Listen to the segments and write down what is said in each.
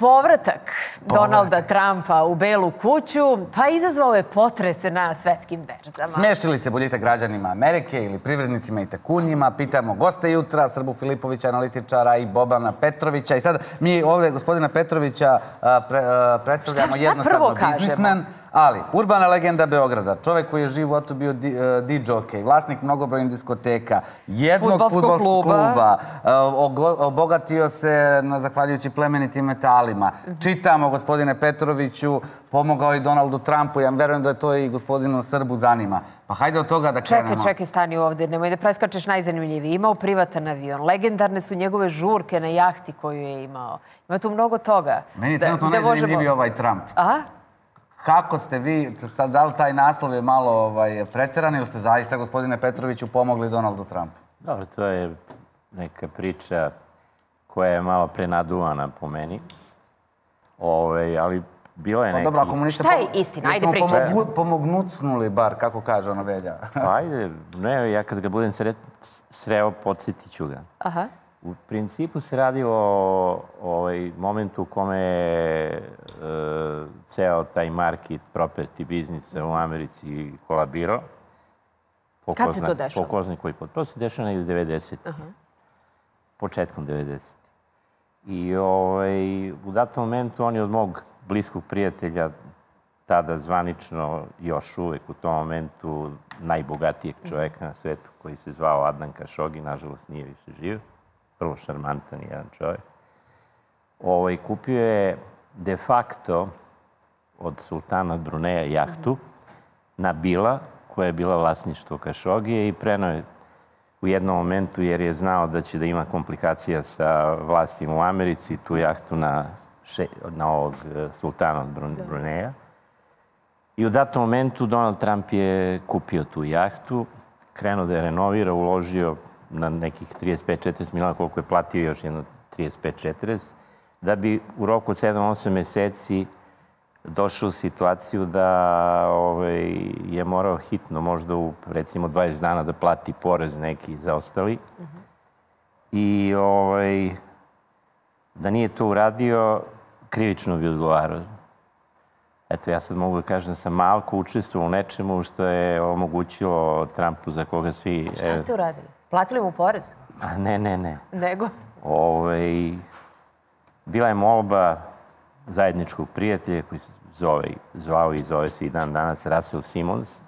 Povratak Donalda Trumpa u Belu kuću, pa izazvao je potrese na svetskim berzama. Smeši li se boljitak građanima Amerike ili privrednicima i tajkunima? Pitamo gosta jutra, Srbu Filipovića, analitičara i Bobana Petrovića. I sad mi ovdje gospodina Petrovića predstavljamo jednostavno biznismen, ali urbana legenda Beograda, čovjek koji je živ u životu bio DJ-okej, vlasnik mnogobrojnih diskoteka, jednog fudbalskog kluba, obogatio se zahvaljujući plemenitim metalima. Čitamo, gospodine Petroviću, pomogao i Donaldu Trumpu, ja verujem da je to i gospodinu Srbu zanima. Pa hajde od toga da krenemo. Čekaj, stani ovdje, nemoj da preskačeš najzanimljiviji. Imao privatan avion, legendarne su njegove žurke na jahti koju je imao. Ima tu mnogo toga. Meni je trenutno najzanimljiviji ovaj Trump. Aha? Kako ste vi, da li taj naslov je malo preteran ili ste zaista, gospodine Petroviću, pomogli Donaldu Trumpu? Dobro, to je neka priča koja je malo prenaduvana po meni, ali bilo je neki... Dobro, ako mu ništa... Šta je istina? Ajde pričaj. Pomognucnuli bar, kako kaže ono Velja. Ajde, ne, ja kad ga budem sreo, podsjetit ću ga. Aha. U principu se radilo o momentu u kome je ceo taj market, property biznis u Americi kolabirao. Kad se to dešava? Po ko zna koji put. To se dešava negdje 90. Početkom 90. I u datom momentu on je od mog bliskog prijatelja, tada zvanično još uvek u tom momentu najbogatijeg čoveka na svetu, koji se zvao Adnan Kašogi, nažalost nije više živ, vrlo šarmantan jedan čovjek. Kupio je de facto od sultana Bruneja jahtu Nabila, koja je bila vlasništvo Kašogije, i preneo je u jednom momentu, jer je znao da će da ima komplikacija sa vlastima u Americi, tu jahtu na ovog sultana od Bruneja. I u datom momentu Donald Trump je kupio tu jahtu, krenuo da je renovira, uložio na nekih 35-40 miliona, koliko je platio još jedno 35-40, da bi u roku od 7-8 meseci došao u situaciju da je morao hitno, možda u recimo 20 dana, da plati porez neki zaostali. I da nije to uradio, krivično bi odgovarao. Eto, ja sad mogu da kažem da sam malko učestvovao u nečemu što je omogućilo Trumpu, za koga svi... Šta ste uradili? Platili mu porez? Ne. Nego? Bila je molba zajedničkog prijatelja koji se zvao i zove se i dan danas Russell Simmons,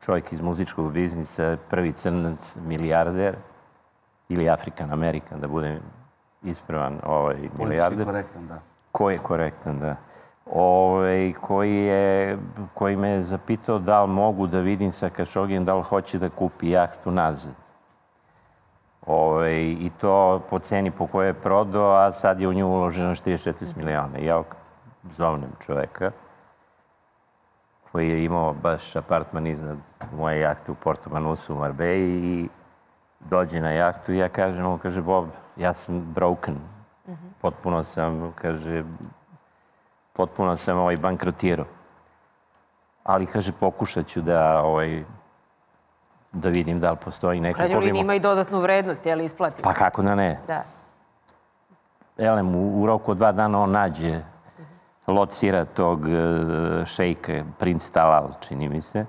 čovjek iz muzičkog biznisa, prvi crnac, milijarder, ili African-American, da budem ispravan, milijarder. Politički korektan, da. Koji je korektan, da. Koji me je zapitao da li mogu da vidim sa Kašogijem da li hoće da kupi jahtu nazad. I to po ceni po kojoj je prodao, a sad je u nju uloženo 44 miliona. Ja zovnem čoveka koji je imao baš apartman iznad moje jahte u Porto Manusu u Marbeji i dođe na jahtu i ja kažem, on kaže, Bob, ja sam broken. Potpuno sam, kaže, bankrotirao. Ali, kaže, pokušat ću da vidim da li postoji neko... U krajnjoj liniji ima i dodatnu vrednost, je li isplati? Pa kako da ne? Da. Elem, u roku od 2 dana on nađe, locira tog šejka, princ Talal, čini mi se,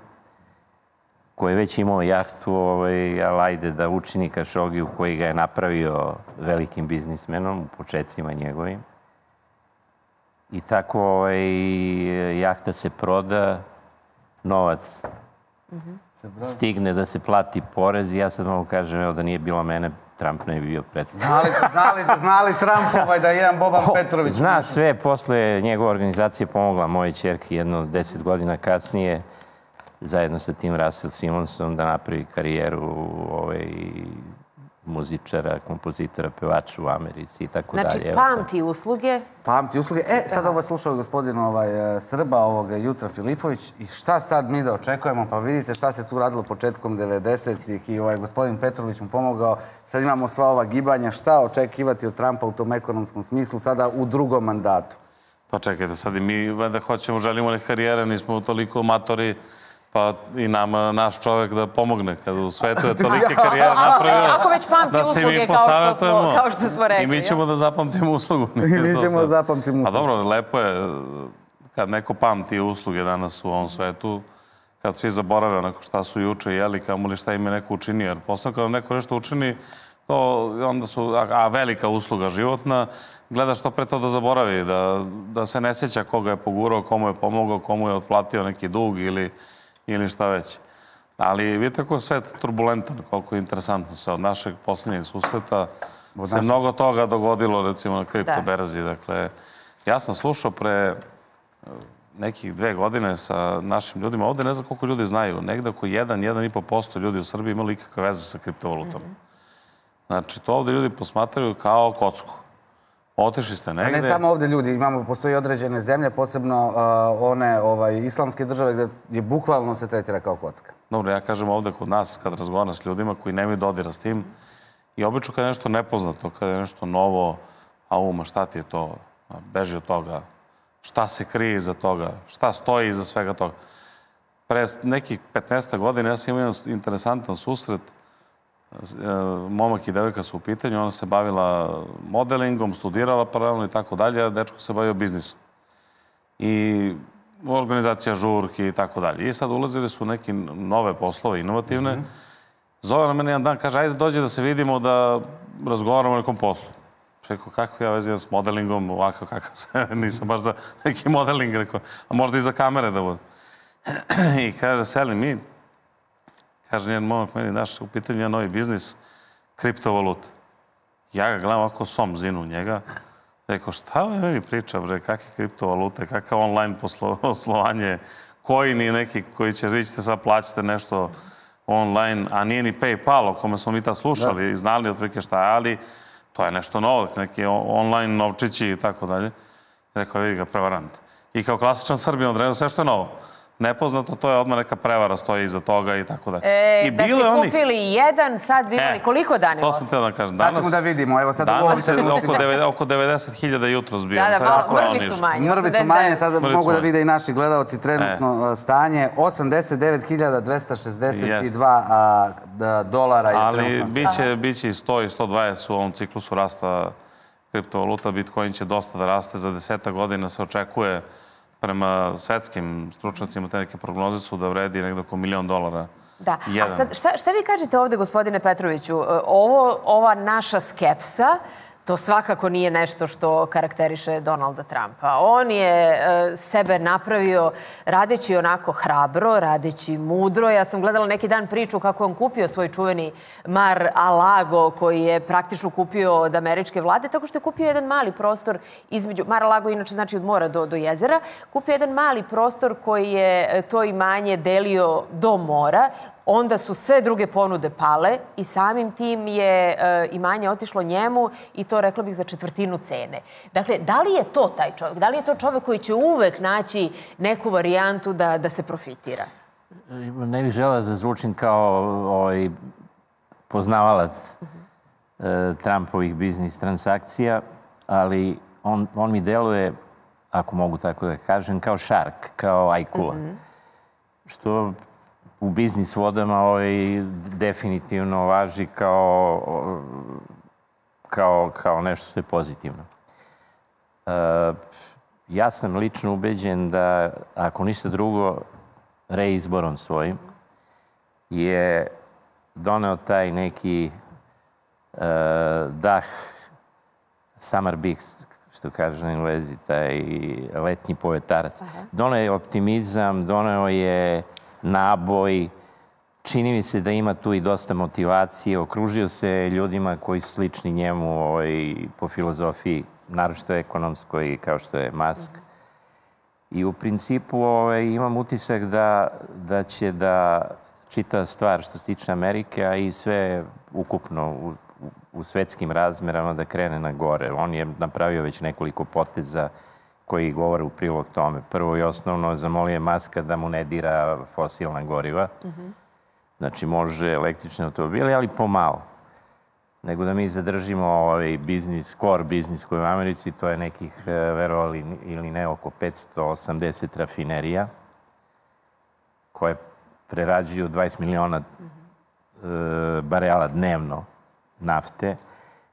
koji je već imao jahtu, ali ajde da učini Kašogiju koji ga je napravio velikim biznismenom u početcima njegovim. I tako jahta se proda, novac stigne da se plati porez i ja sad mogu kažem, evo da nije bilo mene, Trump ne bi bio predstavljen. Znali Trump da je jedan Boban Petrović? Zna sve, posle njegove organizacije pomogla moje ćerke jedno 10 godina kasnije, zajedno sa tim Russell Simonsom, da napravi karijeru muzičara, kompozitora, pevača u Americi i tako dalje. Znači, pamti usluge. Pamti usluge. Sad ovo je slušao gospodin Srba ovog jutra Filipović i šta sad mi da očekujemo? Pa vidite šta se tu radilo početkom 90-ih i gospodin Petrović mu pomogao. Sad imamo sva ova gibanja. Šta očekivati od Trumpa u tom ekonomskom smislu sada u drugom mandatu? Pa čekajte, sad i mi da hoćemo, želimo neke karijere, nismo toliko amatori Pa i nama naš čovjek da pomogne kad u svetu je tolike karijere napravio. Ako već pamti usluge kao što smo rekli. I mi ćemo da zapamtimo uslugu. I mi ćemo da zapamtimo uslugu. Pa dobro, lepo je kad neko pamti usluge danas u ovom svetu, kad svi zaborave onako šta su juče jeli, kamoli šta im je neko učinio. Jer posle kada neko nešto učini, to onda su, a velika usluga životna, gleda što pre to da zaboravi, da se ne sjeća koga je pogurao, komu je pomogao, komu je otplatio neki dug ili šta već. Ali vidite kako je svet turbulentan, koliko je interesantno sve. Od našeg posljednjeg susreta se mnogo toga dogodilo, recimo, na kriptoberzi. Dakle, ja sam slušao pre nekih 2 godine sa našim ljudima. Ovde ne znam koliko ljudi znaju. Negde oko 1,5% ljudi u Srbiji imali ikakve veze sa kriptovalutama. Znači, to ovde ljudi posmatraju kao kocku. Otišli ste negde. A ne samo ovde ljudi, postoji određene zemlje, posebno one islamske države gde je bukvalno se tretira kao kocka. Dobro, ja kažem ovde kod nas, kad razgovaram s ljudima koji nemaju dodira s tim, i obično kad je nešto nepoznato, kad je nešto novo, ma šta ti je to, beži od toga, šta se krije iza toga, šta stoji iza svega toga. Pre nekih 15 godina ja sam imao interesantan susret. Momak i devojka su u pitanju, ona se bavila modelingom, studirala paralelno i tako dalje, a dečko se bavio biznisom. I organizacija žurki i tako dalje. I sad ulazili su neke nove poslove, inovativne. Zove na mene jedan dan, kaže, ajde dođe da se vidimo, da razgovaramo o nekom poslu. Rekao, kako ja vezim s modelingom, ovako kakav se, nisam baš za neki modeling, rekao, a možda i za kamere da bude. I kaže, seli mi, kaže, njen momak meni, daš, u pitanju je novi biznis, kriptovaluta. Ja ga gledam ovako som zinu u njega. Rekao, šta meni priča, bre, kakve kriptovalute, kakav online poslovanje, coini neki koji će, vi ćete sad plaćate nešto online, a nije ni PayPal, o kome smo mi tad slušali i znali otprilike šta je, ali to je nešto novo, neki online novčići i tako dalje. Rekao, vidi ga, prevarant. I kao klasičan Srbin odredio sve što je novo. Nepoznato, to je odmah neka prevara stoji iza toga i tako dalje. Da ste kupili jedan, sad bi imali koliko dana? To sam teo da kažem. Sad ćemo da vidimo, evo sad u ovom trenutku. Danas je oko 90.000 jutros bio. Da, mrvicu manje. Mrvicu manje, sad mogu da vide i naši gledalci trenutno stanje. $89.262 je ali biće i 100 i 120 u ovom ciklusu rasta kriptovaluta. Bitcoin će dosta da raste. Za 10 godina se očekuje prema svetskim stručnjacima, te neke prognoze su da vredi negdje oko $1 milion. Da. A sad, šta vi kažete ovde, gospodine Petroviću? Ova naša skepsa, to svakako nije nešto što karakteriše Donalda Trumpa. On je sebe napravio radeći onako hrabro, radeći mudro. Ja sam gledala neki dan priču kako je on kupio svoj čuveni Mar-a-Lago koji je praktično kupio od američke vlade, tako što je kupio jedan mali prostor između... Mar-a-Lago inače znači od mora do jezera. Kupio jedan mali prostor koji je to imanje delio do mora. Onda su sve druge ponude pale i samim tim je imanje otišlo njemu i to, rekla bih, za 1/4 cene. Dakle, da li je to taj čovjek? Da li je to čovjek koji će uvek naći neku varijantu da se profitira? Ne bih želeo da zvučim kao poznavalac Trumpovih biznis transakcija, ali on mi deluje, ako mogu tako da kažem, kao šark, kao ajkula. Što u biznis vodama definitivno važi kao nešto što je pozitivno. Ja sam lično ubeđen da, ako ništa drugo, reizborom svojim je doneo taj neki dah summer beast, što kaže na Englezi, taj letnji povetarac. Doneo je optimizam, doneo je naboj. Čini mi se da ima tu i dosta motivacije. Okružio se ljudima koji su slični njemu po filozofiji, naročito ekonomskoj, kao što je Musk. I u principu imam utisak da će da čita stvar što se tiče Amerike, a i sve ukupno u svetskim razmerama da krene na gore. On je napravio već nekoliko poteza koji govore u prilog tome. Prvo i osnovno zamolio je Muska da mu ne dira fosilna goriva. Znači, može električne automobile, ali pomalo. Nego da mi zadržimo ovaj biznis, core biznis koji je u Americi, to je nekih, verovali ili ne, oko 580 rafinerija, koje prerađuju 20 miliona barela dnevno nafte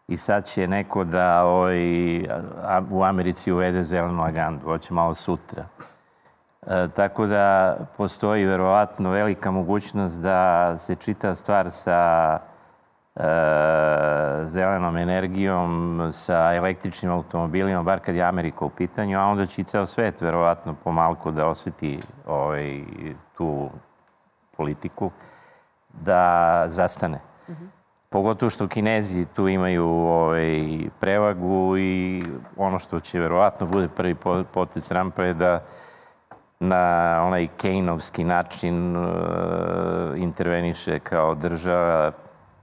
i sad će neko da u Americi uvede zelenu agendu, hoće malo sutra. Tako da postoji verovatno velika mogućnost da se čita stvar sa zelenom energijom, sa električnim automobilima, bar kad je Amerika u pitanju, a onda će i ceo svet verovatno pomalko da osjeti tu politiku, da zastane. Pogotovo što Kinezi tu imaju prevagu i ono što će verovatno bude prvi potez Trumpa je da na onaj Keynovski način interveniše kao država,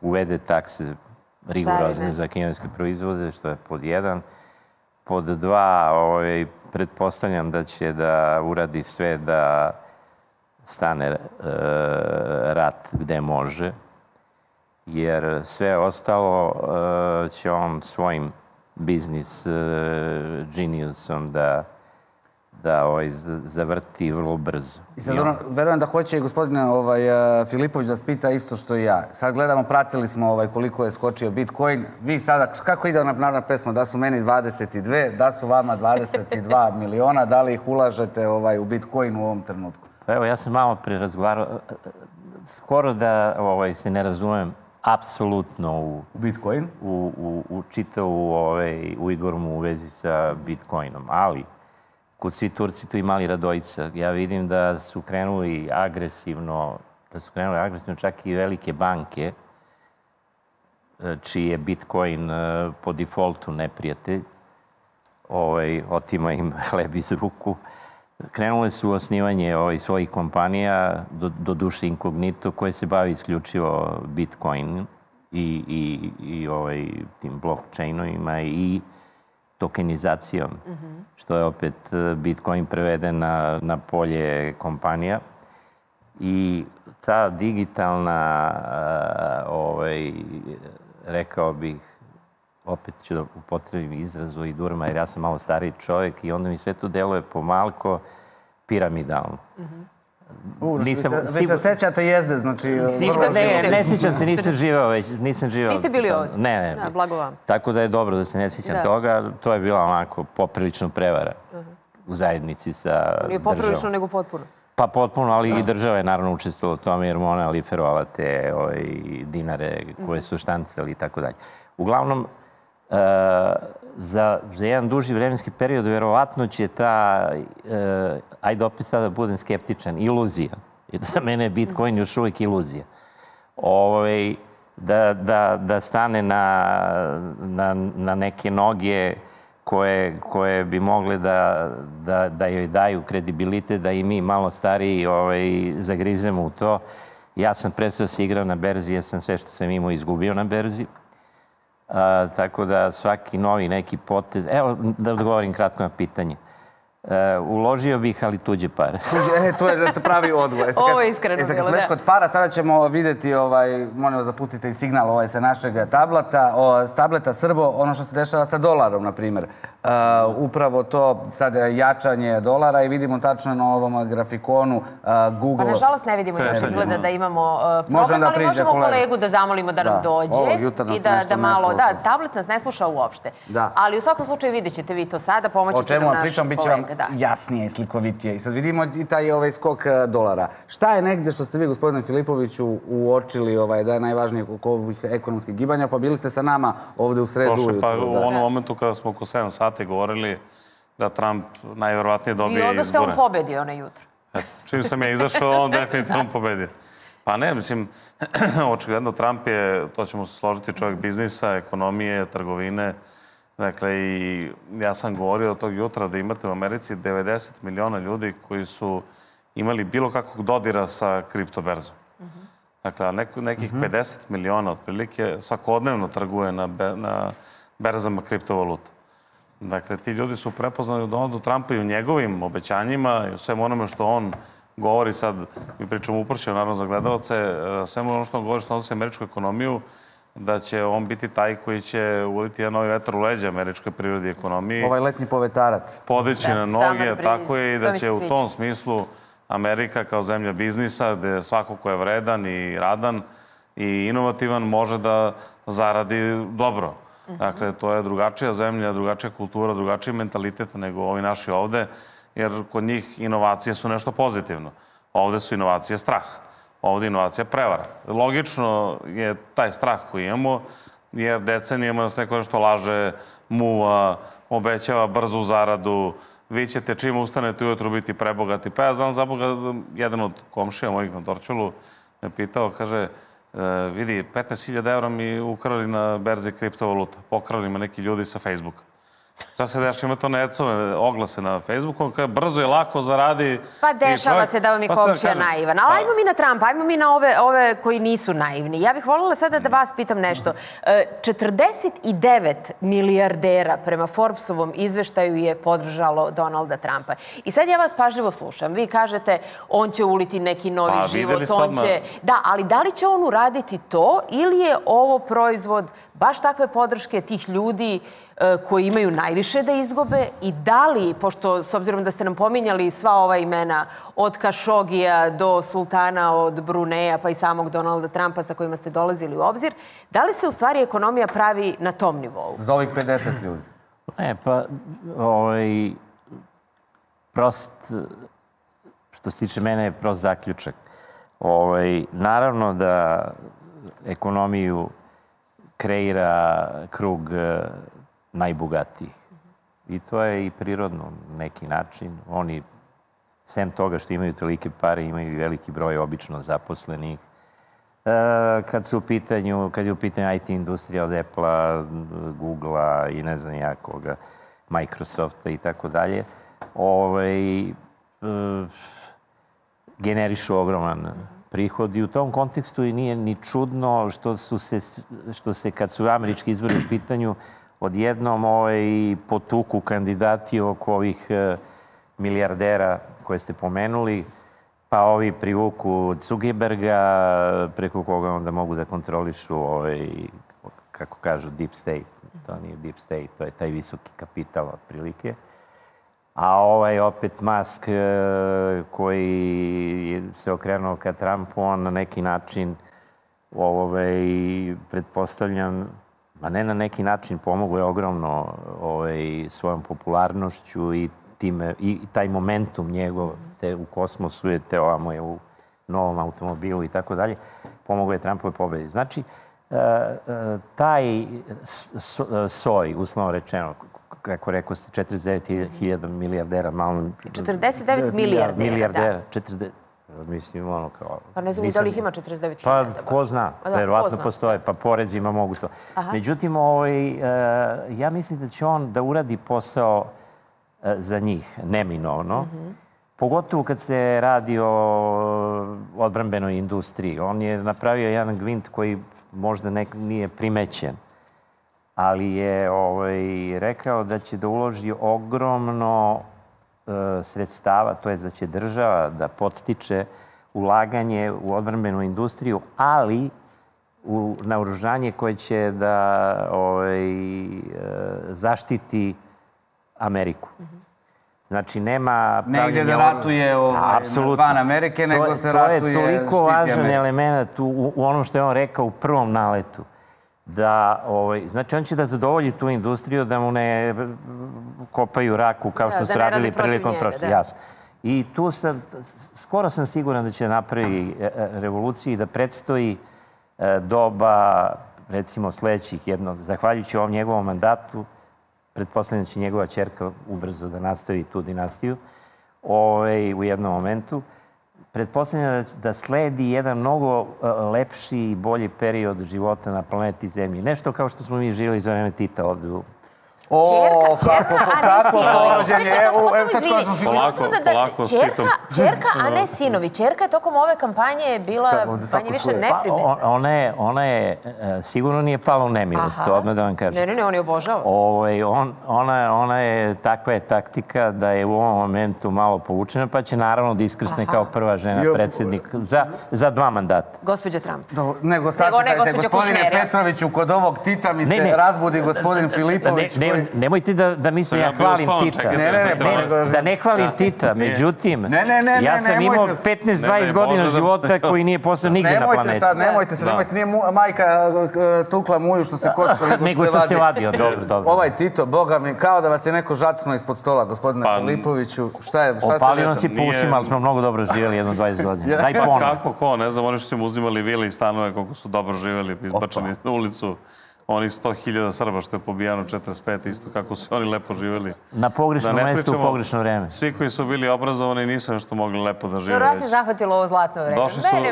uvede takse rigorozne za kineske proizvode, što je pod 1. Pod 2, pretpostavljam da će da uradi sve da stane rat gde može, jer sve ostalo će on svojim biznis geniusom da zavrti vrlo brzo. I sad verujem da hoće i gospodin Filipović da spita isto što i ja. Sad gledamo, pratili smo koliko je skočio Bitcoin. Vi sada, kako ide ona narodna pesma? Da su meni 22, da su vama 22 miliona, da li ih ulažete u Bitcoin u ovom trenutku? Pa evo, ja sam malo pre razgovarao, skoro da se ne razumem apsolutno u Bitcoin? U čitavu uidvormu u vezi sa Bitcoinom, ali kod svi Turci tu imali Radojica. Ja vidim da su krenuli agresivno, čak i velike banke, čiji je Bitcoin po defaultu neprijatelj, otima im hleb iz ruku. Krenule su u osnivanje svojih kompanija, do duše inkognito, koje se bavi isključivo Bitcoin i tim blockchainovima i tokenizacijom, što je opet Bitcoin preveden na polje kompanija. I ta digitalna, rekao bih, opet ću da upotrebim izrazu i durma, jer ja sam malo stariji čovjek i onda mi sve to deluje pomalko piramidalno. Vi se sećate jezde, znači... Ne sjećam se, nisam živao već. Niste bili ovdje? Ne. Blago vam. Tako da je dobro da se ne sjećam toga. To je bila onako poprilično prevara u zajednici sa državom. Nije poprilično, nego potpuno. Pa potpuno, ali i država je naravno učestvovala u tome jer ona liferovala te dinare koje su štancali i tako dalje. Uglavnom, za jedan duži vremenski period verovatno će ta, ajde opet sada da budem skeptičan, iluzija, jer za mene je Bitcoin još uvijek iluzija, da stane na neke noge koje bi mogle da joj daju kredibilitet, da i mi malo stariji zagrizemo u to. Ja sam prestao se igrao na berzi, jer sam sve što sam imao izgubio na berzi. Tako da svaki novi neki potez... Evo da odgovorim kratko na pitanje. Uložio bih, ali tuđe pare. To je pravi odgovor. Ovo je iskreno bilo, da. Kad smo već kod para, sada ćemo vidjeti, molim vas da pustite i signal sa našeg tableta, s tableta Srbo, ono što se dešava sa dolarom, na primjer. Upravo to sad jačanje dolara i vidimo tačno na ovom grafikonu Google... Pa nažalost ne vidimo još izgleda da imamo problem, ali možemo kolegu da zamolimo da nam dođe i da malo... Da, tablet nas ne sluša uopšte. Ali u svakom slučaju vidjet ćete vi to sada, pomoći će nam naš kolega. Jasnije i slikovitije. I sad vidimo i taj skok dolara. Šta je negde što ste vi, gospodine Filipoviću, uočili da je najvažnije oko ovih ekonomskih gibanja? Pa bili ste sa nama ovde u sredu ujutru. Pa u onom momentu kada smo oko 7 sati govorili da Trump najverovatnije dobije izbore. I onda ste on pobedio na jutro. Čim sam ja izašao, on definitivno pobedio. Pa ne, mislim, očigledno Trump je, to ćemo se složiti, čovjek biznisa, ekonomije, trgovine. Dakle, i ja sam govorio od tog jutra da imate u Americi 90 miliona ljudi koji su imali bilo kakvog dodira sa kriptoberzom. Dakle, nekih 50 miliona otprilike svakodnevno trguje na berzama kriptovaluta. Dakle, ti ljudi su prepoznali u Donaldu Trumpa i u njegovim obećanjima i u svemu onome što on govori sad, mi pričamo upršeno, naravno za gledalce, svemu ono što on govori što odnosi američku ekonomiju, da će on biti taj koji će uliti jedan novi vetar u leđa američkoj prirodi i ekonomiji. Ovaj letnji povetarac. Podići na noge, tako je, i da će u tom smislu Amerika kao zemlja biznisa, gde svako ko je vredan i radan i inovativan može da zaradi dobro. Dakle, to je drugačija zemlja, drugačija kultura, drugačiji mentalitet nego ovi naši ovde, jer kod njih inovacije su nešto pozitivno. Ovde su inovacije strah. Ovde je inovacija prevara. Logično je taj strah koji imamo, jer decenijama nas neko nešto laže, muva, obećava brzu zaradu, vi ćete čim ustanete ujutru biti prebogati. Pa ja znam za Boga, jedan od komšija mojih na Dorćolu me pitao, kaže, vidi, 15.000 evra mi ukrali na berzi kriptovaluta. Pokrali me neki ljudi sa Facebooka. Šta se dešava? Ima to necove oglase na Facebooku, kada brzo i lako zaradi. Pa dešava se da vam je komšija naivan. Ali ajmo mi na Trumpa, ajmo mi na ove koji nisu naivni. Ja bih voljela sada da vas pitam nešto. 49 milijardera prema Forbesovom izveštaju je podržalo Donalda Trumpa. I sad ja vas pažljivo slušam. Vi kažete, on će uliti neki novi život, on će... Da, ali da li će on uraditi to ili je ovo proizvod baš takve podrške tih ljudi koji imaju najviše da izgube i da li, pošto s obzirom da ste nam pominjali sva ova imena od Kašogija do sultana od Bruneja pa i samog Donalda Trumpa sa kojima ste dolazili u obzir, da li se u stvari ekonomija pravi na tom nivou? Za ovih 50 ljudi? Ne, pa prost, što se tiče mene je prost zaključak. Naravno da ekonomiju kreira krug najbogatijih. I to je i prirodno na neki način. Oni, sem toga što imaju tolike pare, imaju i veliki broj obično zaposlenih. Kad je u pitanju IT industrija od Apple-a, Google-a i ne znam ja koga, Microsofta i tako dalje, generišu ogroman prihod i u tom kontekstu i nije ni čudno što se kad su američki izbori u pitanju odjednom potuku kandidati oko ovih milijardera koje ste pomenuli, pa ovi privuku Zuckerberga, preko koga onda mogu da kontrolišu kako kažu deep state. To nije deep state, to je taj visoki kapital otprilike. A opet Musk koji se okrenuo ka Trumpu, on na neki način pretpostavljam, a ne na neki način, pomogao je ogromno svojom popularnošću i taj momentum njegov u kosmosu je ovamo je u novom automobilu i tako dalje, pomogao je Trumpove pobedi. Znači, taj soj, uslovno rečeno, kako rekao ste, 49.000 milijardera, malo... 49 milijardera, da. Mislim, ono kao... Pa ne znam da li ih ima 49.000. Pa, ko zna, verovatno postoje, pa porezima mogu to. Međutim, ja mislim da će on da uradi posao za njih, neminovno. Pogotovo kad se radi o odbrambenoj industriji. On je napravio jedan gvint koji možda nije primećen, ali je rekao da će da uloži ogromno sredstava, to je da će država da podstiče ulaganje u odbrambenu industriju, ali u naoružanje koje će da zaštiti Ameriku. Znači, nema... Negdje da ratuje van Amerike, nego se ratuje... To je toliko važan element u onom što je on rekao u prvom naletu. Znači, on će da zadovolji tu industriju, da mu ne kopaju raku kao što su radili prilikom prošle. I tu skoro sam siguran da će napravi revoluciju i da predstoji doba, recimo, sledećih zahvaljujući ovom njegovom mandatu, pretpostavljam da će njegova ćerka ubrzo da nastavi tu dinastiju u jednom momentu. Pretpostavljam da sledi jedan mnogo lepši i bolji period života na planeti Zemlji. Nešto kao što smo mi živjeli za vreme Tita ovde u... Kako porođenje? Polako s Titom. Čerka, a ne sinovi. Čerka je tokom ove kampanje bila manje više neprimetna. Ona je, sigurno nije pala u nemilost, to odmah da vam kažem. Ne, on je obožava. Ona je, takva je taktika da je u ovom momentu malo povučena, pa će naravno da iskrsne kao prva žena predsjednik za 2 mandata. Gospođa Trump. Nego sad čekajte, gospodine Petroviću, kod ovog Tita mi se razbudi gospodin Filipović koji nemojte da mislim ja hvalim Tita. Da ne hvalim Tita, međutim, ja sam imao 15-20 godina života koji nije postao nigde na planeti. Nemojte se, nije majka tukla muju što se kockali. Nego što se vadio, dobro. Ovaj Tito, boga mi, kao da vas je neko žacnuo ispod stola, gospodine Filipoviću. Šta se desilo? Opalio nas i po ušima, ali smo mnogo dobro živjeli jedno 20 godina. Daj ponovno. Kako ko, ne znam, oni što su im uzimali vile i stanove, koliko su dobro živjeli, izbačeni na ulicu. Onih 100.000 Srba što je pobijano 45. isto kako su oni lepo živjeli. Na pogrešnom mestu u pogrešno vreme. Svi koji su bili obrazovani nisu nešto mogli lepo da žive. Vas je zahvatilo ovo zlatno vreme.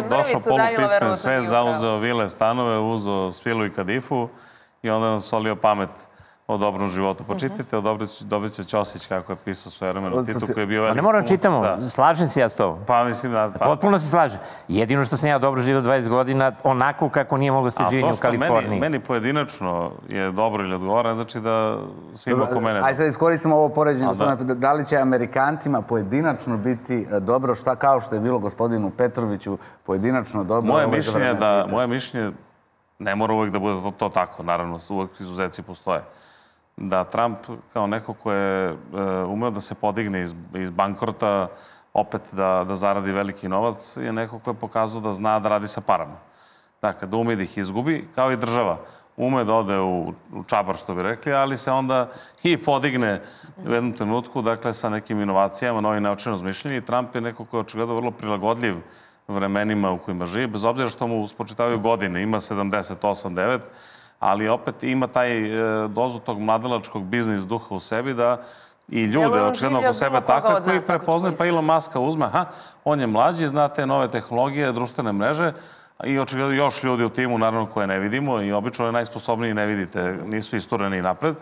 Došao polupismen svet, zauzeo vile, stanove, uzeo svilu i kadifu i onda nam solio pamet o dobrom životu. Počitajte o Dobrice Ćosić kako je pisao svoje vremeno Titu koji je bio veliki. Ne moramo čitamo, slažem se ja s tobom. Pa mislim da... Potpuno se slažem. Jedino što sam ja dobro živio 20 godina, onako kako nije moglo se živjeti u Kaliforniji. Meni pojedinačno je dobro ili odgovara, ne znači da svima oko mene... Ajde sad iskoristimo ovo poređenje. Da li će Amerikancima pojedinačno biti dobro kao što je bilo gospodinu Petroviću pojedinačno dobro? Moje mišljenje ne mora uvek da bude to tako, naravno, uvek izuzeci postoje. Da Trump kao neko ko je umeo da se podigne iz bankrota, opet da zaradi veliki novac, je neko ko je pokazao da zna da radi sa parama. Dakle, da ume da ih izgubi, kao i država. Ume da ode u čabar, što bi rekli, ali se onda i podigne u jednom trenutku, dakle, sa nekim inovacijama, novi način razmišljanja. I Trump je neko ko je očigledno vrlo prilagodljiv vremenima u kojima živi, bez obzira što mu spočitavaju godine, ima 78-9, ali opet ima taj dozu tog mladalačkog biznis duha u sebi da i ljude očigledno oko sebe takve koji prepoznaju, pa Elon Muska uzme, on je mlađi, zna te nove tehnologije, društvene mreže i očigledno još ljudi u timu, naravno, koje ne vidimo i obično je najsposobniji ne vidite, nisu istureni napred.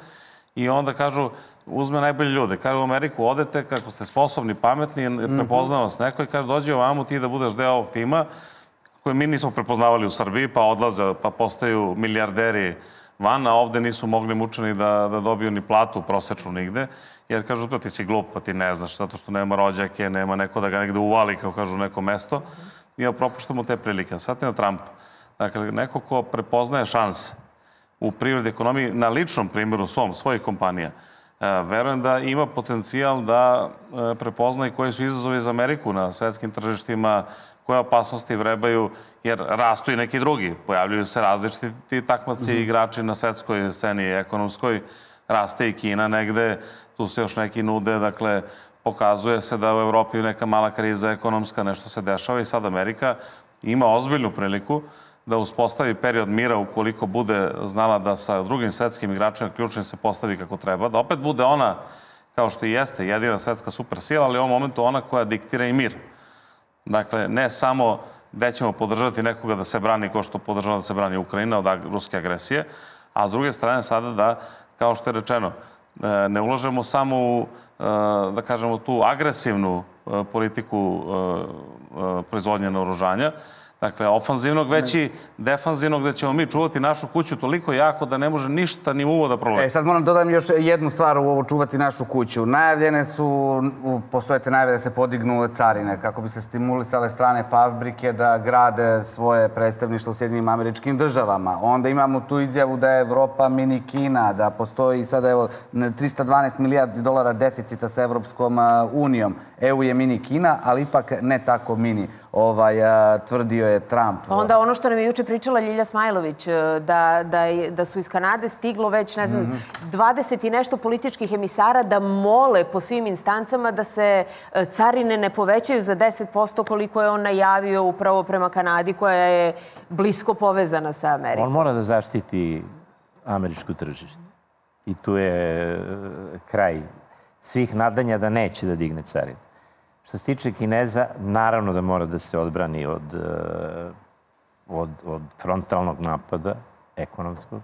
I onda kažu, uzme najbolje ljude. Kažu u Ameriku, odete, kako ste sposobni, pametni, prepozna vas neko i kaže, dođi ovamo ti da budeš deo ovog tima koje mi nismo prepoznavali u Srbiji, pa odlaze, pa postaju milijarderi van, a ovde nisu mogli mučeni da dobiju ni platu prosečnu nigde, jer kažu, pa ti si glup, pa ti ne znaš, zato što nema rođake, nema neko da ga negde uvali, kao kažu, neko mesto, i propuštamo te prilike. Sad je na Trumpa. Dakle, neko ko prepoznaje šanse u privredi ekonomiji, na ličnom primjeru svojih kompanija, verujem da ima potencijal da prepozna i koji su izazovi za Ameriku na svetskim tržištima, koje opasnosti vrebaju, jer rastu i neki drugi. Pojavljuju se različiti takmaci i igrači na svetskoj sceni ekonomskoj. Raste i Kina negde, tu se još neki nude, dakle, pokazuje se da u Evropi neka mala kriza ekonomska, nešto se dešava i sad Amerika ima ozbiljnu priliku da uspostavi period mira ukoliko bude znala da sa drugim svetskim igračima ključnim se postavi kako treba, da opet bude ona, kao što i jeste, jedina svetska supersila, ali u ovom momentu ona koja diktira i mir. Dakle, ne samo gde ćemo podržati nekoga da se brani kao što podržava da se brani Ukrajina od ruske agresije, a s druge strane sada da, kao što je rečeno, ne ulažemo samo u, da kažemo, tu agresivnu politiku proizvodnje naoružanja, dakle, ofanzivnog, već i defanzivnog, gde ćemo mi čuvati našu kuću toliko jako da ne može ništa ni uvo da proleti. Sad moram dodam još jednu stvar u ovo čuvati našu kuću. Najavljene su, postoje te najave da se podignu carine, kako bi se stimulisale strane fabrike da grade svoje predstavništvo u Sjedinjenim Američkim Državama. Onda imamo tu izjavu da je Evropa mini Kina, da postoji sada, evo, 312 milijardi dolara deficita sa Evropskom unijom. EU je mini Kina, ali ipak ne tako mini. Tvrdio je Trump. Onda ono što nam je juče pričala Ljilja Smajlović, da su iz Kanade stiglo već, ne znam, 20 i nešto političkih emisara da mole po svim instancama da se carine ne povećaju za 10% koliko je on najavio upravo prema Kanadi, koja je blisko povezana sa Amerikom. On mora da zaštiti američko tržište. I tu je kraj svih nadanja da neće da digne carine. Što se tiče Kineza, naravno da mora da se odbrani od frontalnog napada, ekonomskog,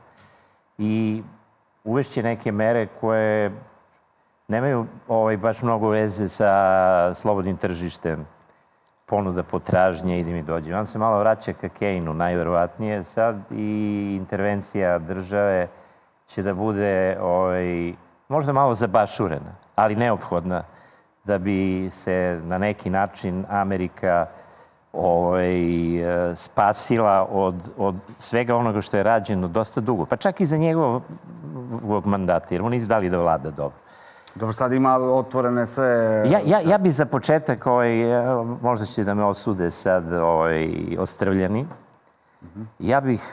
i uvešće neke mere koje nemaju baš mnogo veze sa slobodnim tržištem, ponuda potražnje, ide mi dođe. On se malo vraća ka Kejnu, najverovatnije sad, i intervencija države će da bude možda malo zabašurena, ali neophodna, da bi se na neki način Amerika spasila od svega onoga što je rađeno dosta dugo. Pa čak i za njegovog mandata, jer on nije dali da vlada dobro. Dobro, sad ima otvorene sve... Ja bi za početak, možda će da me osude sad ostrvljeni, ja bih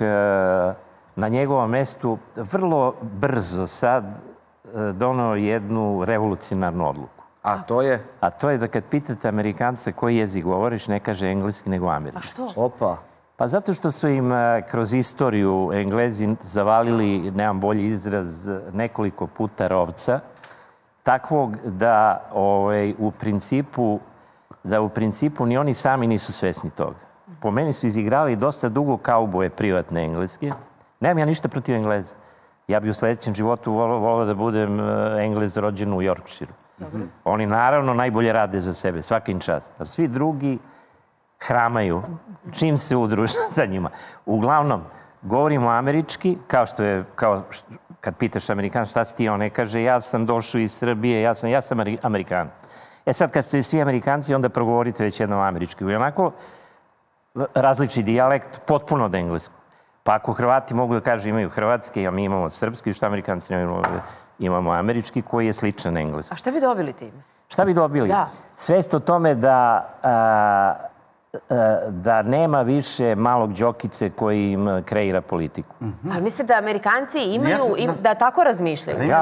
na njegovom mestu vrlo brzo sad donao jednu revolucionarnu odluku. A to je? A to je da kad pitate Amerikanca koji jezik govoriš, ne kaže engleski, nego američki. A što? Opa. Pa zato što su im kroz istoriju Englezi zavalili, nemam bolji izraz, nekoliko puta rovca, takvog da u principu ni oni sami nisu svesni toga. Po meni su izigrali dosta dugo kauboje privatne engleske. Nemam ja ništa protiv Engleza. Ja bi u sledećem životu volao da budem Englez rođen u Yorkshireu. Oni naravno najbolje rade za sebe, svaka im čast. A svi drugi hramaju čim se udruže sa njima. Uglavnom, govorimo američki, kao kad pitaš Amerikanac šta si ti, on ne kaže ja sam došao iz Srbije, ja sam Amerikanac. Sad kad ste svi Amerikanci, onda progovorite već jednom američki. I onako različit dijalekt, potpuno od engleskog. Pa ako Hrvati mogu da kažu imaju hrvatski, a mi imamo srpski, što Amerikanci imamo američki, koji je sličan engleski. A šta bi dobili time? Šta bi dobili? Da. Svest o tome da nema više malog Đokice koji im kreira politiku. Ali mislite da Amerikanci imaju, da tako razmišljaju?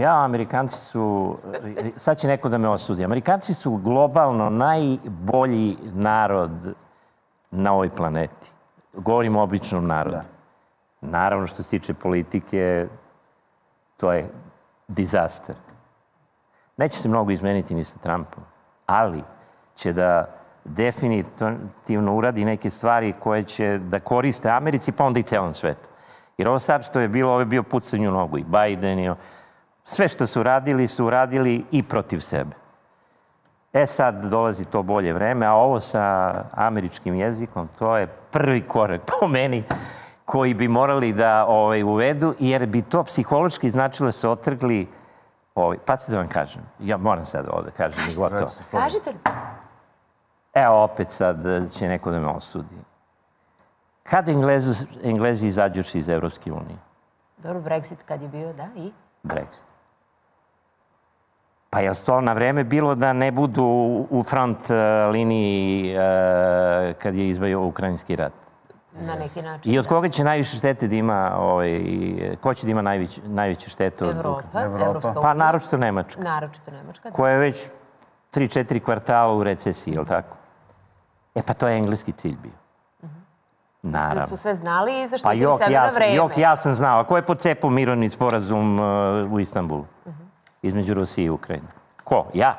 Amerikanci su, sad će neko da me osudi, Amerikanci su globalno najbolji narod na ovoj planeti. Govorimo o običnom narodu. Naravno, što se tiče politike, to je dizaster. Neće se mnogo izmeniti ni sa Trumpom, ali će da definitivno uradi neke stvari koje će da koriste Americi, pa onda i celom svetu. Jer ovo sad što je bilo, ovo je bio pucanju nogu i Biden i sve što su uradili i protiv sebe. Sad dolazi to bolje vreme, a ovo sa američkim jezikom, to je prvi korak po meni koji bi morali da uvedu, jer bi to psihološki značilo da se otrgli... Pa se da vam kažem, ja moram sad ovo da kažem. Kažite. Evo, opet sad će neko da me osudi. Kad Englezi izađuši iz Evropske unije? Dobro, Brexit kad je bio, da, i? Brexit. Pa je to na vreme bilo da ne budu u front liniji kad je izbio Ukrajinski rat? Na neki način. I od koga će najviše štete da ima, ko će da ima najveće štete od Evropa. Pa naročito Nemačka. Naročito Nemačka, da. Koja je već 3-4 kvartala u recesiji, je li tako? Pa to je engleski cilj bio. Naravno. Da su sve znali i zaštitili sebe na vreme. Ja sam znao. A ko je pocepao mirovni sporazum u Istanbulu? Između Rusije i Ukrajine. Ko? Ja.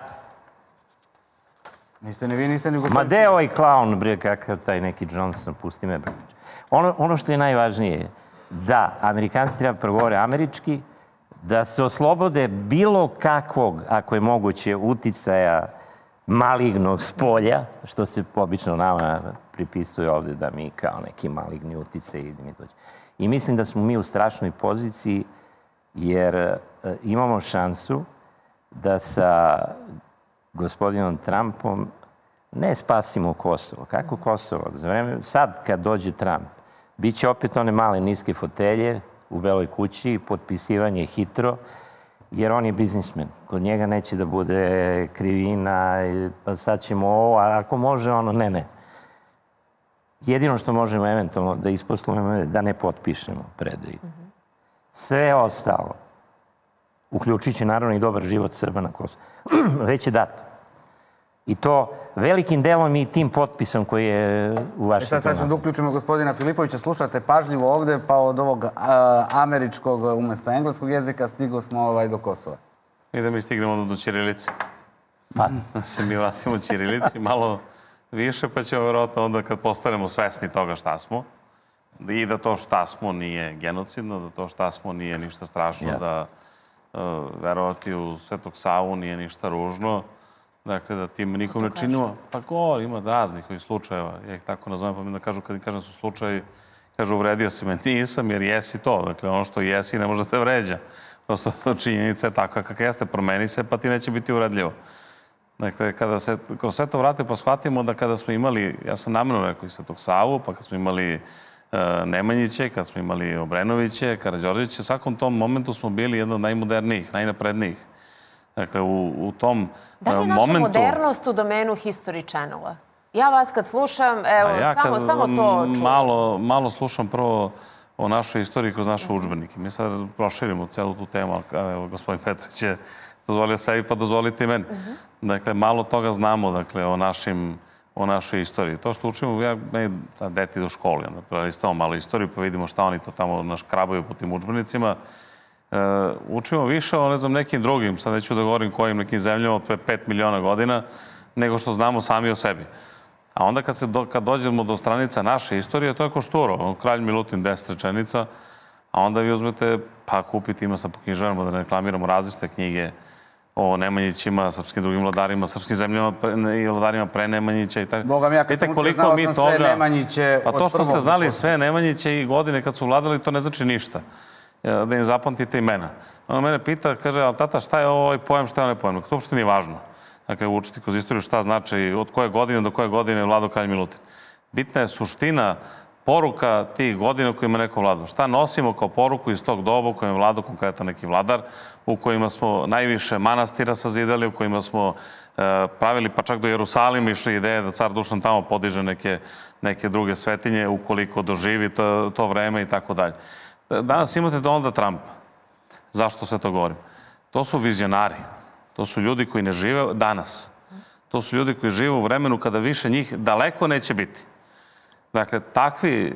Niste ni vi, niste ni gospodin. Ma gde je ovaj klaun, bre, kakav taj neki Johnson, pusti me, bre. Ono što je najvažnije je da Amerikanci treba progovore američki, da se oslobode bilo kakvog, ako je moguće, uticaja malignog spolja, što se obično nama pripisuje ovde da mi kao neki maligni uticaj i mi dođe. I mislim da smo mi u strašnoj poziciji jer imamo šansu da sa gospodinom Trumpom ne spasimo Kosovo. Kako Kosovo? Za vreme, sad kad dođe Trump, bit će opet one male niske fotelje u Beloj kući, potpisivanje hitro, jer on je biznismen. Kod njega neće da bude krivina, pa sad ćemo ovo, a ako može ono, ne. Jedino što možemo eventualno da isposlujemo je da ne potpišemo predaju. Sve ostalo, uključit će naravno i dobar život Srba na Kosovu, već je dato. I to velikim delom i tim potpisom koji je u Vašingtonu. Sad ćemo da uključimo gospodina Filipovića. Slušate pažljivo ovde, pa od ovog američkog umesto engleskog jezika stigo smo do Kosova. I da mi stignemo do ćirilice. Da se mi vratimo ćirilici malo više, pa ćemo verovatno onda kad postanemo svesni toga šta smo i da to šta smo nije genocidno, da to šta smo nije ništa strašno, da verovati u Svetog Savu nije ništa ružno. Dakle, da tim nikom ne činimo. Pa govor, ima raznih ovih slučajeva. Ja ih tako nazovem, pa mi da kažu, kad im kažem su slučajevi, kažu uvredio se me. Nisam, jer jesi to. Dakle, ono što jesi ne može da te vređa. Prosto činjenica je takva kakva jeste. Promeni se, pa ti neće biti uvredljivo. Dakle, kada se kroz sve to vrate pa shvatimo da kada smo imali, ja sam namjerno rekao i Svetog Savu, pa kad smo imali Nemanjiće, kad smo imali Obrenoviće, Karađorđeviće, u svakom tom momentu smo bili jedan od najmodernijih, najnaprednijih. Dakle, u tom momentu... Da li je naša modernost u domenu History Channela? Ja vas kad slušam, evo, samo to čujem. Malo slušam prvo o našoj istoriji kroz naše udžbenike. Mi sad proširimo celu tu temu, ali gospodin Petrović je dozvolio sebi, pa dozvolite i meni. Dakle, malo toga znamo, dakle, o našoj istoriji. To što učimo, meni deti do školi, onda prelistamo malo istoriju, pa vidimo šta oni to tamo naškrabaju po tim udžbenicima. Učimo više o, ne znam, nekim drugim, sad neću da govorim kojim nekim zemljama od 5 miliona godina, nego što znamo sami o sebi. A onda kad dođemo do stranica naše istorije, to je ko Šturo, Kralj Milutin, 10 rečenica, a onda vi uzmete, pa kupite, ima sad po knjižarama da reklamiramo različite knjige o Nemanjićima, srpskim drugim vladarima, srpskim zemljama i vladarima pre Nemanjića i tako. Bogam, ja kad sam učio, znao sam sve Nemanjiće od prvog. Pa to što ste znali sve Nemanjiće i godine kad su vladali, to ne znači ništa. Da im zapamtite imena. Ona mene pita, kaže, ali tata, šta je ovaj pojam, šta je onaj pojam? To uopšte nije važno. Dakle, učiti kroz istoriju šta znači od koje godine do koje godine je vladao Kralj Milutin. Bitna je suština, poruka tih godina u kojima neko vladao. Šta nosimo kao poruku iz tog doba u kojem je vladao konkretan neki vladar, u kojima smo najviše manastira sazidali, u kojima smo pravili, pa čak do Jerusalima išli ideje da car Dušan tamo podiže neke druge svetinje, ukoliko doživi to vreme i tako dalje. Danas imate Donalda Trumpa. Zašto se to govorim? To su vizionari. To su ljudi koji ne žive danas. To su ljudi koji žive u vremenu kada više njih daleko neće biti. Dakle, takvi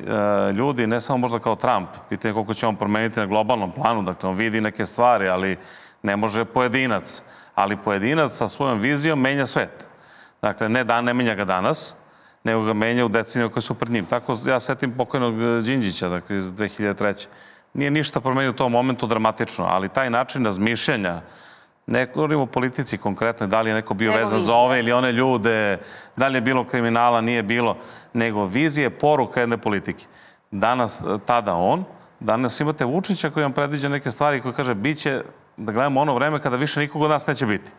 ljudi, ne samo možda kao Trump, pitanje koliko će on promeniti na globalnom planu, dakle, on vidi neke stvari, ali ne može pojedinac. Ali pojedinac sa svojom vizijom menja svet. Dakle, ne menja ga danas, nego ga menja u decenijama koje su pred njim. Tako ja setim pokojnog Đinđića, dakle, iz 2003. Nije ništa promenio u tom momentu dramatično, ali taj način razmišljanja, ne govorimo o politici konkretno, da li je neko bio vezan za ove ili one ljude, da li je bilo kriminala, nije bilo, nego vizije, poruka jedne politike. Danas imate Vučića koji vam predviđa neke stvari koji kaže bit će, da gledamo ono vreme kada više nikog od nas neće biti.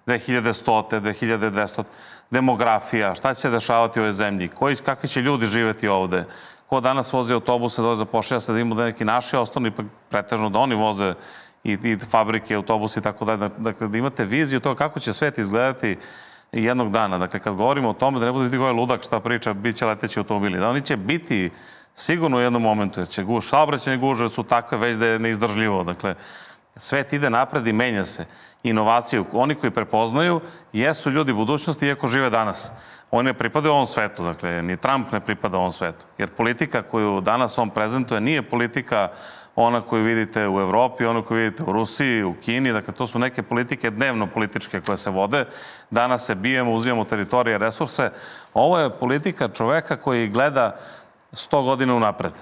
2100, 2200, demografija, šta će se dešavati u ovoj zemlji, kakvi će ljudi živeti ovde, ko danas vozi autobuse, dole zapošlja se da imamo da neki naši osnovni, pa pretežno da oni voze i fabrike, autobusi i tako dalje. Dakle, da imate viziju toga kako će svet izgledati jednog dana. Dakle, kad govorimo o tome da ne bude biti koji ludak šta priča, bit će leteći automobili. Da oni će biti sigurno u jednom momentu, jer će saobraćajne gužve su takve već da je neizdržljivo. Dakle, svet ide napred i menja se. Inovaciju, oni koji prepoznaju, jesu ljudi budućnosti iako žive danas. Oni ne pripadaju ovom svetu, dakle, ni Trump ne pripada ovom svetu. Jer politika koju danas on prezentuje nije politika ona koju vidite u Evropi, ona koju vidite u Rusiji, u Kini. Dakle, to su neke politike dnevno političke koje se vode. Danas se bijemo, uzimamo teritorije, resurse. Ovo je politika čoveka koji gleda 100 godina unapred.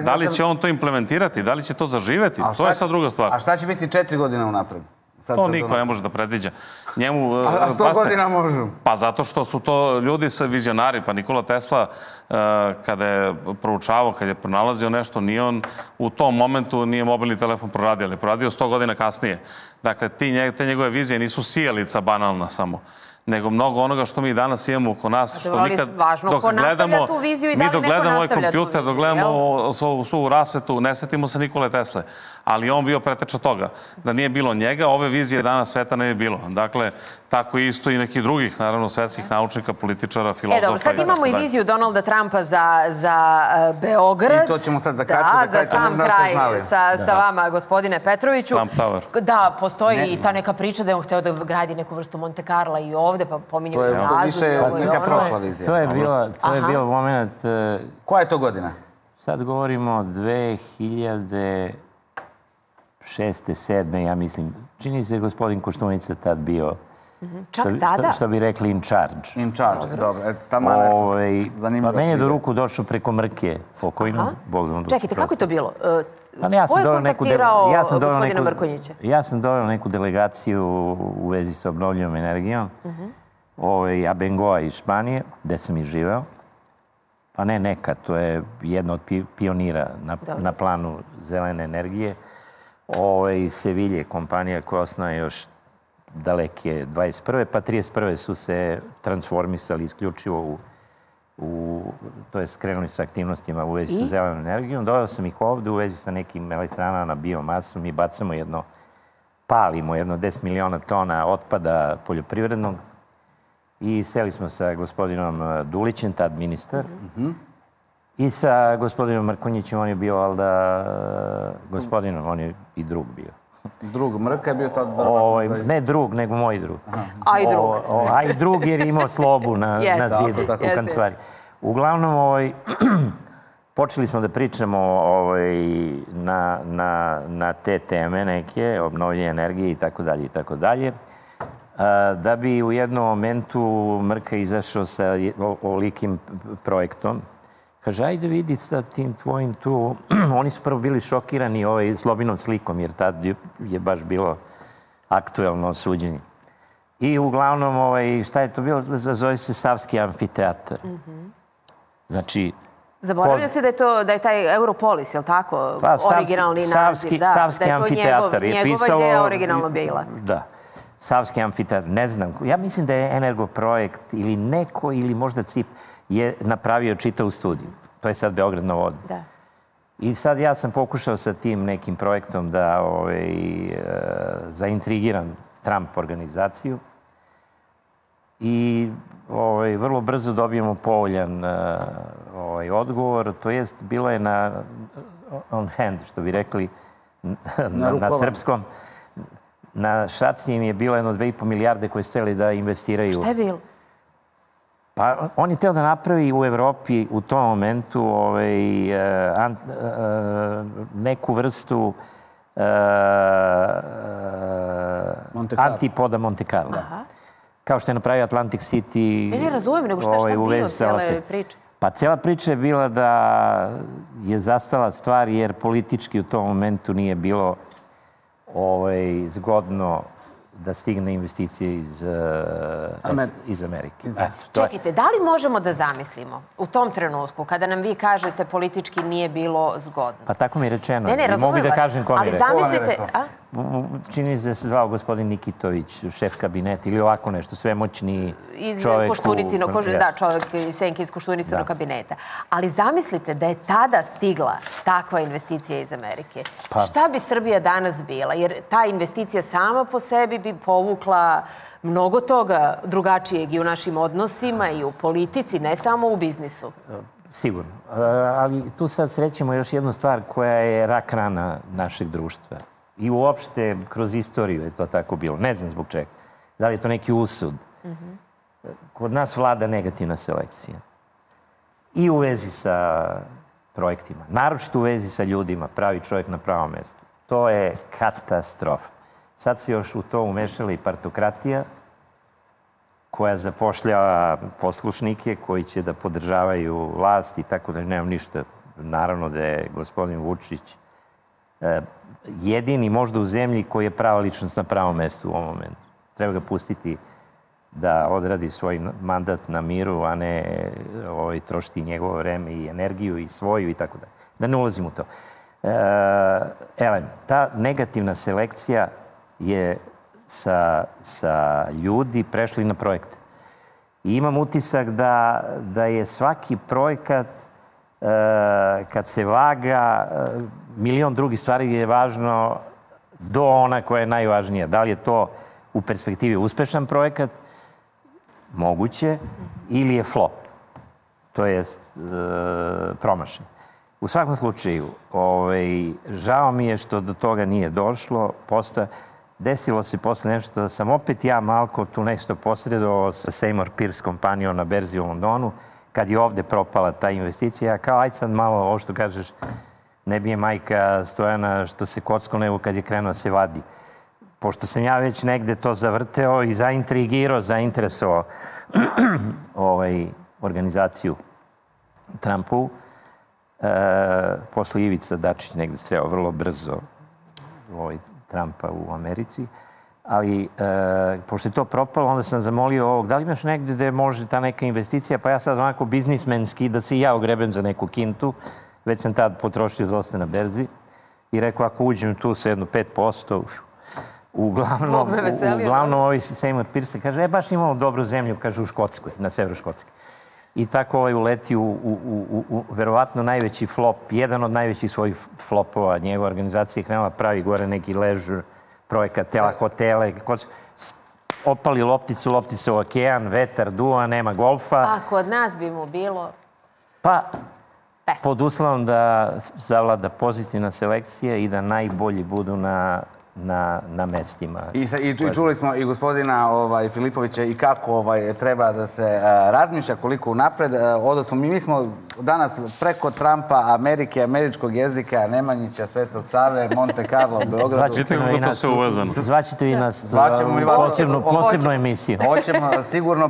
Da li će on to implementirati? Da li će to zaživeti? To je sad druga stvar. A šta će biti 4 godine unapred? To niko ne može da predviđa. A 100 godina možu? Pa zato što su to ljudi sa vizionari. Pa Nikola Tesla, kada je proučavao, kada je pronalazio nešto, nije on u tom momentu nije mobilni telefon proradio, ali je proradio 100 godina kasnije. Dakle, te njegove vizije nisu sijalica banalna samo, nego mnogo onoga što mi danas imamo oko nas, što nikad dok gledamo, mi dok gledamo ovaj kompjuter, dok gledamo svu rasvetu, ne setimo se Nikole Tesle, ali on bio preteča toga. Da nije bilo njega, ove vizije danas sveta ne bi bilo. Dakle, tako isto i nekih drugih, naravno, svetskih naučnika, političara, filozofa. Dobro, sad imamo i viziju Donalda Trumpa za Beograd. I to ćemo sad za kratko, za sam kraj sa vama, gospodine Petroviću. Trump Tower. Da, postoji i ta neka priča da je on hteo da gradi neku vrstu Monte Carla i ovde, pa pominju i razu. To je više neka prošla vizija. To je bio moment... Koja je to godina? Sad govorimo 2006. 2007. ja mislim. Čini se gospodin Koštunica tad bio... Čak tada? Što bi rekli in charge. In charge, dobro. Pa meni je do ruku došlo preko Mrke, pokojno. Čekajte, kako je to bilo? Ko je kontaktirao gospodina Mrkonjića? Ja sam doveo neku delegaciju u vezi sa obnovljivom energijom. Abengoa iz Španije, gde sam i živeo. Pa ne neka, to je jedna od pionira na planu zelene energije. Iz Sevilje, kompanija koja osnoja još daleke 21. pa 31. su se transformisali isključivo to je skrenuli sa aktivnostima u vezi sa zelenom energijom. Doveo sam ih ovde u vezi sa nekim elektranama na biomasu. Mi bacamo palimo jedno 10 miliona tona otpada poljoprivrednog i seli smo sa gospodinom Dulićem, tad ministar, i sa gospodinom Mrkonjićem, on je bio, valjda, gospodinom, on je i drug bio. Drug Mrka je bio tad... Ne drug, nego moj drug. A i drug. A i drug jer je imao slobu na zidu u kancelariji. Uglavnom, počeli smo da pričamo na te teme neke, obnovljenje energije i tako dalje i tako dalje. Da bi u jednom momentu Mrka izašao sa ovolikim projektom. Kaže, ajde vidi sa tim tvojim tu... Oni su prvo bili šokirani Slobinom slikom, jer tad je baš bilo aktuelno suđenje. I uglavnom, šta je to bilo? Zove se Savski amfiteatar. Znači... Zaboravlja se da je taj Europolis, je li tako? Originalni naziv. Savski amfiteatar je pisalo... Njegova ideja originalno bila. Da. Savski amfiteatar, ne znam. Ja mislim da je Energoprojekt ili neko, ili možda CIP, je napravio čitavu studiju. To je sad Beograd na vodi. Da. I sad ja sam pokušao sa tim nekim projektom da zaintrigiram Trump organizaciju i vrlo brzo dobijemo povoljan odgovor. To jest, bilo je on hand, što bi rekli na srpskom. Na šaci im je bilo 2,5 milijarde koje su htjeli da investiraju. Šta je bilo? Pa on je htio da napravi u Evropi u tom momentu neku vrstu antipoda Monte Carlo. Kao što je napravio Atlantic City. Ne razumijem, nego šta je bio cijele priče? Pa cijela priča je bila da je zastala stvar jer politički u tom momentu nije bilo zgodno da stigne investicije iz Amerike. Čekajte, da li možemo da zamislimo u tom trenutku, kada nam vi kažete politički nije bilo zgodno? Pa tako mi je rečeno. Ne, razumijem vas. Mogu da kažem ko mi je rekao. Ali zamislite... Čini se da se zvao gospodin Nikitović, šef kabineta ili ovako nešto, svemoćni čovjek. Da, čovjek iz Senke iz Koštunicenog kabineta. Ali zamislite da je tada stigla takva investicija iz Amerike. Šta bi Srbija danas bila? Jer ta investicija sama po sebi bi povukla mnogo toga drugačijeg i u našim odnosima i u politici, ne samo u biznisu. Sigurno. Ali tu sad srećemo još jednu stvar koja je rak rana našeg društva. I uopšte kroz istoriju je to tako bilo. Ne znam zbog čega. Da li je to neki usud? Kod nas vlada negativna selekcija. I u vezi sa projektima. Naročito u vezi sa ljudima. Pravi čovjek na pravom mjestu. To je katastrofa. Sad se još u to umešala i partokratija koja zapošljava poslušnike koji će da podržavaju vlast i tako da nemam ništa. Naravno da je gospodin Vučić jedini možda u zemlji koji je prava ličnost na pravom mjestu u ovom momentu. Treba ga pustiti da odradi svoj mandat na miru, a ne trošiti njegovo vreme i energiju i svoju i tako da. Da ne ulazim u to. Ta negativna selekcija je sa ljudi prešli na projekte. I imam utisak da je svaki projekat kad se vaga, milion drugih stvari je važno do ona koja je najvažnija. Da li je to u perspektivi uspešan projekat, moguće, ili je flop, to jest promašen. U svakom slučaju, žao mi je što do toga nije došlo. Desilo se posle nešto da sam opet ja malko tu nešto posredovao sa Seymour Pierce kompanijom na berzi u Londonu, kad je ovde propala ta investicija. Kao, ajde sad malo, ovo što kažeš, ne bije majka Stojana što se kocko nego kad je krenuo se vadi. Pošto sam ja već negde to zavrteo i zainteresovao organizaciju Trumpu, posle Ivica Dačić negde sreo vrlo brzo Trumpa u Americi, ali pošto je to propalo, onda sam zamolio ovog, da li imaš negde gde može ta neka investicija, pa ja sad onako biznismenski da se i ja ogrebem za neku kintu, već sam tad potrošio dosta na berzi i rekao, ako uđem tu sa jedno 5%, Uglavnom ovi Seymour Pierce kaže, baš imamo dobru zemlju, kaže, u Škotskoj, na severu Škotske. I tako uleti u verovatno najveći flop, jedan od najvećih svojih flopova. Njegova organizacija je krenula pravi gore neki leisure projekat, hotele, opali loptice u okean, vetar, duva, nema golfa. A kod nas bi mu bilo... Pa, pod uslovom da zavlada pozitivna selekcija i da najbolji budu na mestima. I čuli smo i gospodina Filipovića i kako treba da se razmišlja, koliko unapred. Odnosno, mi smo danas preko Trumpa, Amerike, američkog jezika, Nemanjića, Svetog Save, Monte Carlo, Beogradu. Zvaćete vi nas posebnu emisiju. Hoćemo sigurno